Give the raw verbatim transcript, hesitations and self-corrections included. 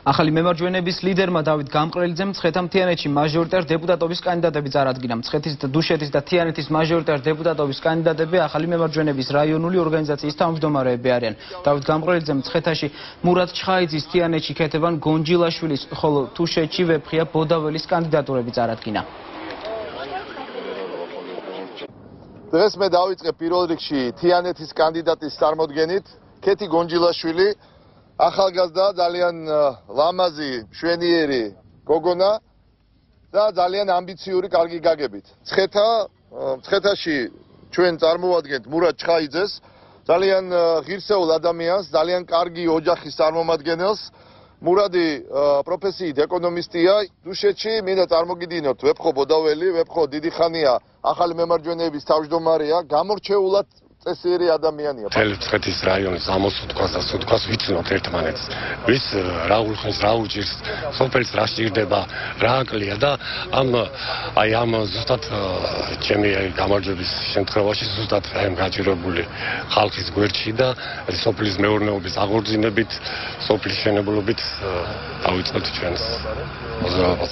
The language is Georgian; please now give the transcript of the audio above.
ახალი მემარჯვენეების ლიდერმა დავით გამყრელიძემ მცხეთა მთიანეთში მაჟორიტარ დეპუტატობის კანდიდატები წარადგინა. მცხეთის, დუშეთის და თიანეთის მაჟორიტარ დეპუტატობის კანდიდატები ახალი მემარჯვენეების რაიონული ორგანიზაციის თავმჯდომარეები არიან. დავით გამყრელიძემ მცხეთაში მურად ჩხაიძის, თიანეთში ქეთევან გონჯილაშვილის, ხოლო თუშეთში ვეფხია ბოდაველის კანდიდატურები წარადგინა. დღეს მე დავიწყე პირველ რიგში თიანეთის კანდიდატის წარმოდგენით. ქეთი გონჯილაშვილი, ახალგაზრდა, ძალიან ლამაზი, მშვენიერი გოგონა და ძალიან ამბიციური, კარგი გაგებით. მცხეთა, მცხეთაში ჩვენ წარმოვადგენთ მურად ჩხაიძეს, ძალიან ღირსეულ ადამიანს, ძალიან კარგი ოჯახის წარმომადგენელს. მურადი პროფესიით ეკონომისტია. დუშეთში მინდა წარმოგიდგინოთ ვეფხო ბოდაველი, ვეფხო დიდი ხანია ახალი მემარჯვენეების თავმჯდომარეა, გამორჩეულად წესიერი ადამიანია. მთელი მცხეთის რაიონის ამოსუთქვას და სუთქვას ვიცნობთ ერთმანეთს. ვის რა ულხენს, რა უჭირს, სოფელს რა სჭირდება, რა აკლია და ამ აი ამ ზუსტად ჩემი გამარჯვების შემთხვევაში ზუსტად აი ამ გაჭირებული ხალხის გვერდში და სოფლის მეურნეობის აღორძინებით, სოფლის მშენებლობით დავიწყებთ ჩვენს მოძრაობას.